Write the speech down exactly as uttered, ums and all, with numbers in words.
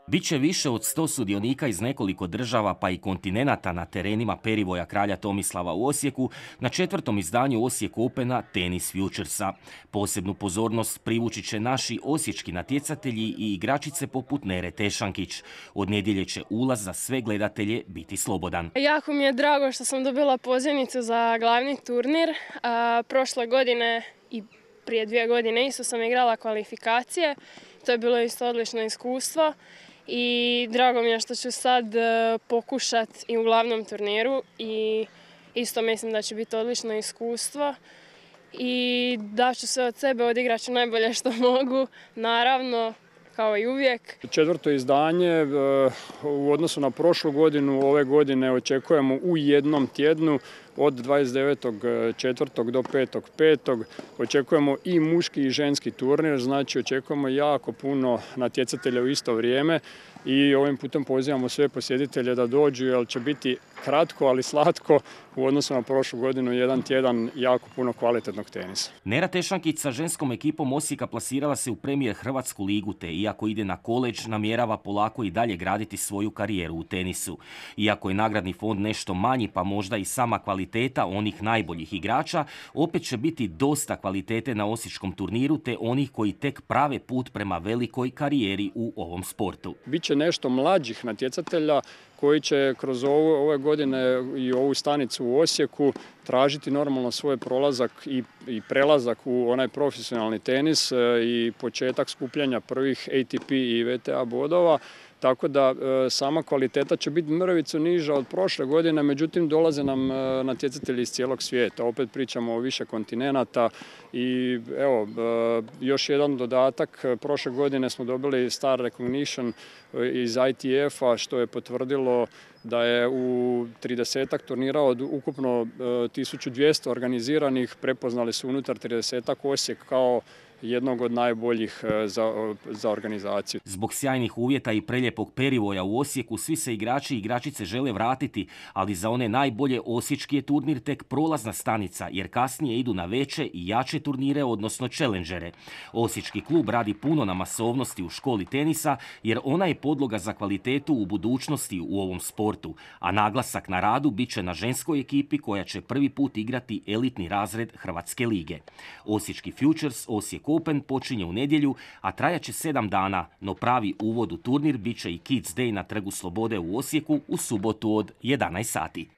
Biće više od sto sudionika iz nekoliko država pa i kontinenata na terenima perivoja kralja Tomislava u Osijeku na četvrtom izdanju Osijek Opena Tennis Futuresa. Posebnu pozornost privući će naši osječki natjecatelji i igračice poput Nere Tešankić. Od nedjelje će ulaz za sve gledatelje biti slobodan. Jako mi je drago što sam dobila pozivnicu za glavni turnir. A, prošle godine i prije dvije godine isto sam igrala kvalifikacije. To je bilo isto odlično iskustvo. I drago mi je što ću sad pokušati i u glavnom turniru i isto mislim da će biti odlično iskustvo i da ću se od sebe odigrat ću najbolje što mogu, naravno, kao i uvijek. Četvrto izdanje u odnosu na prošlu godinu, ove godine očekujemo u jednom tjednu od dvadeset devetog četvrtog do petog petog Očekujemo i muški i ženski turnir, znači očekujemo jako puno natjecatelja u isto vrijeme i ovim putem pozivamo sve posjetitelje da dođu jer će biti kratko, ali slatko u odnosu na prošlu godinu, jedan tjedan jako puno kvalitetnog tenisa. Nera Tešankić sa ženskom ekipom Osijeka plasirala se u premijer Hrvatsku ligu, te iako ide na koledž, namjerava polako i dalje graditi svoju karijeru u tenisu. Iako je nagradni fond nešto manji, pa možda i sama kvaliteta onih najboljih igrača, opet će biti dosta kvalitete na osječkom turniru, te onih koji tek prave put prema velikoj karijeri u ovom sportu. Biće nešto mlađih natjecatelja koji će kroz ovu, ove godine i ovu stanicu u Osijeku tražiti normalno svoj prolazak i, i prelazak u onaj profesionalni tenis i početak skupljanja prvih A T P i V T A bodova. Tako da e, sama kvaliteta će biti mrvicu niža od prošle godine, međutim dolaze nam e, natjecatelji iz cijelog svijeta. Opet pričamo o više kontinenata i evo, e, još jedan dodatak. Prošle godine smo dobili Star Recognition iz I T F-a što je potvrdilo da je u tridesetak turnira od ukupno e, tisuću dvjesto organiziranih prepoznali su unutar tridesetak Osijek kao jednog od najboljih za, za organizaciju. Zbog sjajnih uvjeta i preljepog perivoja u Osijeku svi se igrači i igračice žele vratiti, ali za one najbolje osječki je turnir tek prolazna stanica, jer kasnije idu na veće i jače turnire, odnosno challengere. Osječki klub radi puno na masovnosti u školi tenisa, jer ona je podloga za kvalitetu u budućnosti u ovom sportu, a naglasak na radu bit će na ženskoj ekipi koja će prvi put igrati elitni razred Hrvatske lige. Osječki Futures, Osijek Open počinje u nedjelju, a trajaće sedam dana, no pravi uvod u turnir bit će i Kids Day na Trgu Slobode u Osijeku u subotu od jedanaest sati.